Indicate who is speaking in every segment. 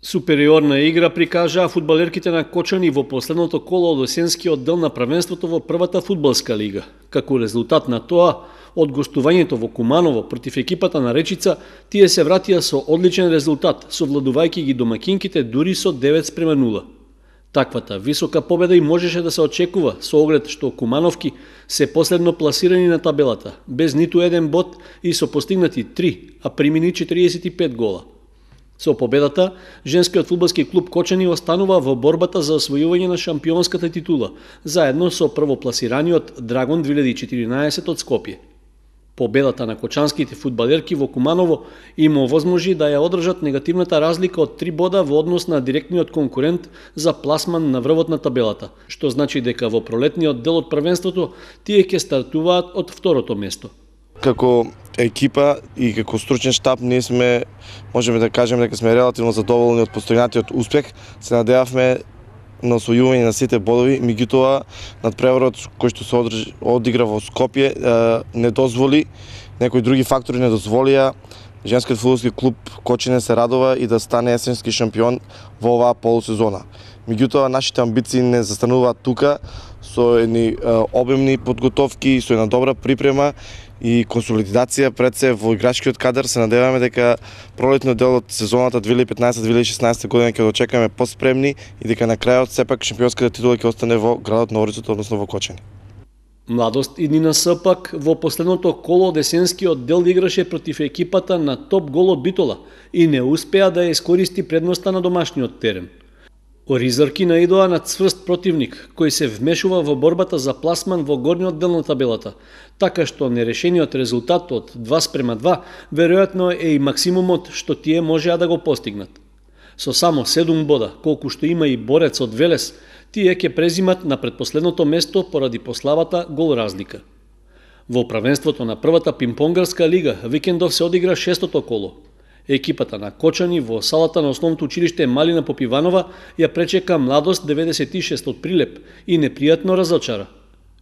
Speaker 1: Супериорна игра прикажаа фудбалерките на Кочани во последното коло од есенскиот дел на првенството во првата фудбалска лига. Како резултат на тоа, од гостувањето во Куманово против екипата на Речица, тие се вратија со одличен резултат, совладувајќи ги домакинките дури со 9:0. Таквата висока победа и можеше да се очекува со оглед што Кумановки се последно пласирани на табелата, без ниту еден бод и со постигнати 3, а примени 45 гола. Со победата, женскиот фудбалски клуб Кочани останува во борбата за освојување на шампионската титула, заедно со првопласираниот Драгон 2014 од Скопје. Победата на кочанските фудбалерки во Куманово им овозможи да ја одржат негативната разлика од 3 бода во однос на директниот конкурент за пласман на врвот на табелата, што значи дека во пролетниот дел од првенството тие ќе стартуваат од второто место.
Speaker 2: Како екипа и како стручен штаб ние можеме да кажеме дека сме релативно задоволни од постојнатиот успех. Се надевавме на освојување на сите бодови, меѓутоа надпреварот кој што се одигра во Скопје не дозволи, некои други фактори не дозволија женскиот фудбалски клуб Кочани се радува и да стане есенски шампион во оваа полусезона. Меѓутоа нашите амбиции не застануваат тука, со едни обемни подготовки, со една добра припрема и консолидација пред се во играчкиот кадар. Се надеваме дека пролетниот дел од сезоната 2015-2016 година ќе дочекаме поспремни и дека на крајот сепак шампионската титула ќе остане во градот на Орицото, односно во Кочани.
Speaker 1: Младост и Нина Сапак во последното коло од есенскиот дел играше против екипата на Топ Гол од Битола и не успеа да ја искористи предноста на домашниот терен. Оризарки наидоа на цврст противник, кој се вмешува во борбата за пласман во горниот дел на табелата, така што нерешениот резултат од 2:2 веројатно е и максимумот што тие можеа да го постигнат. Со само 7 бода, колку што има и борец од Велес, тие ќе презимат на предпоследното место поради пославата гол разлика. Во првенството на првата пинг-понгарска лига викендов се одигра 6-то коло. Екипата на Кочани во салата на основното училиште Малина Попиванова ја пречека Младост 96 од Прилеп и непријатно разочара.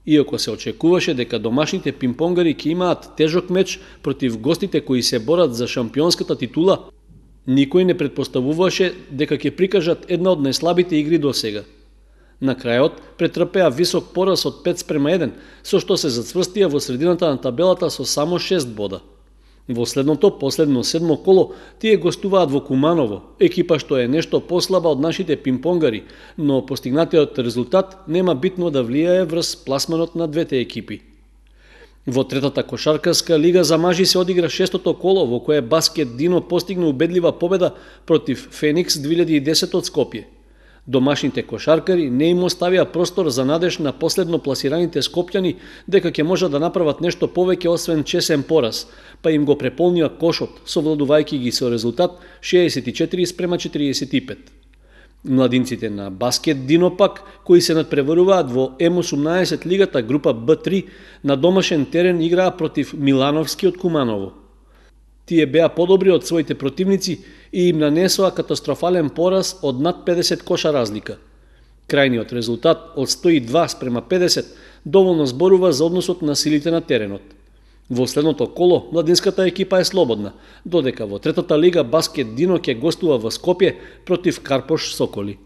Speaker 1: Иако се очекуваше дека домашните пинг-понгари ќе имаат тежок меч против гостите кои се борат за шампионската титула, никој не претпоставуваше дека ќе прикажат една од најслабите игри до сега. На крајот претрпеа висок пораз од 5:1, со што се зацврстија во средината на табелата со само 6 бода. Во последно 7 коло, тие гостуваат во Куманово, екипа што е нешто послаба од нашите пинг-понгари, но постигнатиот резултат нема битно да влијае врз пласманот на двете екипи. Во третата кошаркарска лига за мажи се одигра 6-то коло, во кое Баскет Дино постигна убедлива победа против Феникс 2010 од Скопје. Домашните кошаркари не им оставија простор за надеж на последно пласираните скопјани дека ќе можат да направат нешто повеќе освен чесен пораз, па им го преполнија кошот, совладувајќи ги со резултат 64:45. Младинците на Баскет Дино пак, кои се надпреваруваат во М18 лигата група Б3, на домашен терен играа против Милановски од Куманово. Тие беа подобри од своите противници и им нанесоа катастрофален пораз од над 50 коша разлика. Крајниот резултат од 102:50 доволно зборува за односот на силите на теренот. Во следното коло младинската екипа е слободна, додека во третата лига Баскет Дино ќе гостува во Скопје против Карпош Соколи.